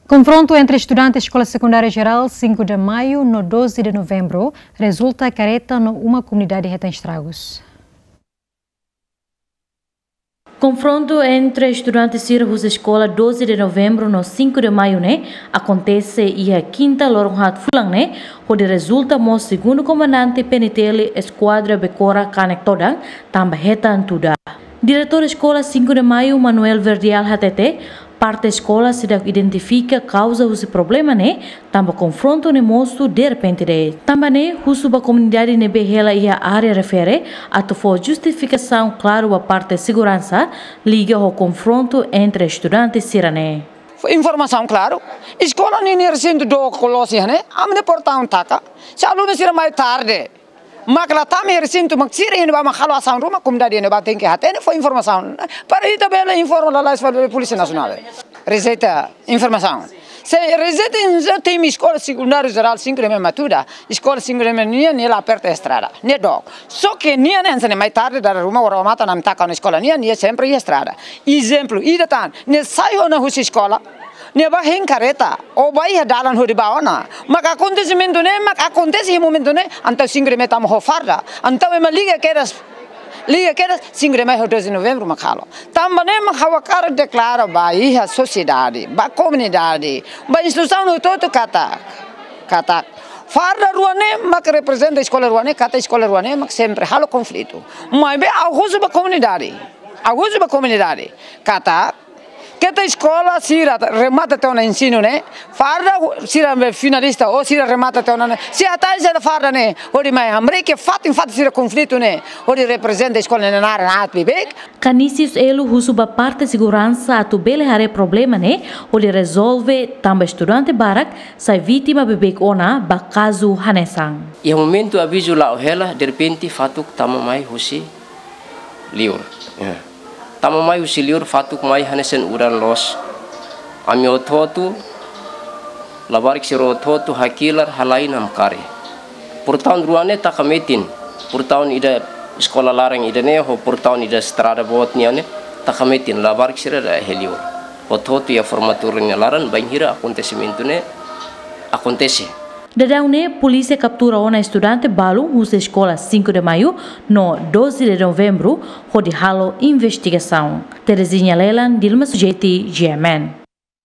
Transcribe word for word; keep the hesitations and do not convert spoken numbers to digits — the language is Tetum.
Konfrontu entre estudante Eskola Sekundária Jerál Cinco de Maio no Doze de Novembro rezulta kareta no uma komunidade hetan estragus. Konfrontu entre estudante sira husi eskola Doze de Novembro no Cinco de Maio ne'e akontese iha kinta loron haat fulan ne'e, hodi rezulta mós segundu komandante P N T L Eskuadra Becora kanek todan, tanba hetan tuda. Diretór Eskola Cinco de Maio, Manuel Verdial, hatete, parte eskola seidauk identifika kauza husi problema ne'e, tanba konfrontu ne'e mosu derrepente de'it. Tanba ne'e, husu ba komunidade ne'ebé hela iha área refere, atu fó justifikasaun klaru ba parte seguransa, liga ho konfrontu entre estudante sira ne'e. Fó informasaun klaru, eskola ninia resintu dook loos iha ne'e, ami-nia portaun taka, se alunu sira mai tarde, mak la tama iha resintu, mak sira iha ne'ebá mak halo asaun ruma, komunidade iha ne'ebá tenke hatene, fó informasaun. Para ita bele informa lalais fali ba Polísia Nasionál. Rejeita informasaun. Se rejeita, se temi Eskola Sekundária Jerál Cinco de Maio mak tuda, Eskola Cinco de Maio nian, nia la pertu estrada, nia dook. Só ke nia ne'e hanesan ne'e mai tarde dada ruma, ha'u remata, ami taka ona eskola nian, nia sempre iha estrada. Ezemplu ida tan, nia sai ona husi eskola, nia bá hein kareta, ou bá iha dalan hodi bá ona. Mak akontesimentu ne'e, mak akontese iha momentu ne'e, entaun Cinco de Maio tama ho farda, entaun ema liga kedas, liga kedas, Cinco de Maio ho Doze de Novembro mak halo. Tanba ne'e mak ha'u hakarak deklara ba iha sosiedade, ba komunidade, ba instituisaun hotu-hotu katak, katak farda rua ne'e mak reprezenta eskola rua ne'e, katak eskola rua ne'e mak sempre halo konflitu. Maibé ha'u husu ba komunidade, ha'u husu ba komunidade, katak keta eskola sira remata tiha ona ensinu ne'e, farda sira be finalista ou sira remata tiha ona ne'e, sei hatais sira farda ne'e, hodi mai hamriik iha fatin-fatin sira konflitu ne'e, hodi reprezenta eskola ne'e naran aat beibeik. Canisius Elo husu ba parte seguransa atu bele haree problema ne'e, hodi rezolve, tanba estudante barak sai vítima beibeik ona ba kazu hanesan. Iha momentu avizu la'o hela, derrepente fatuk tama mai husi liur. Ya. Tama mai husi liur, fatuk mai hanesan udan loos. Ami hotu-hotu, labarik sira hotu-hotu hakilar, halai namkari. Portaun rua ne'e taka metin. Portaun ida eskola laran ida ne'e ho portaun ida estrada boot nian ne'e taka metin, labarik sira dada iha liur. Hotu-hotu iha formatura nia laran, bainhira akontesimentu ne'e akontese. Daudaun ne'e, polísia kaptura ona estudante balu husi eskola Cinco de Maio no Doze de Novembro, hodi halo investigasaun. Terezinha Lelan, Dilma Sujeti, G M N.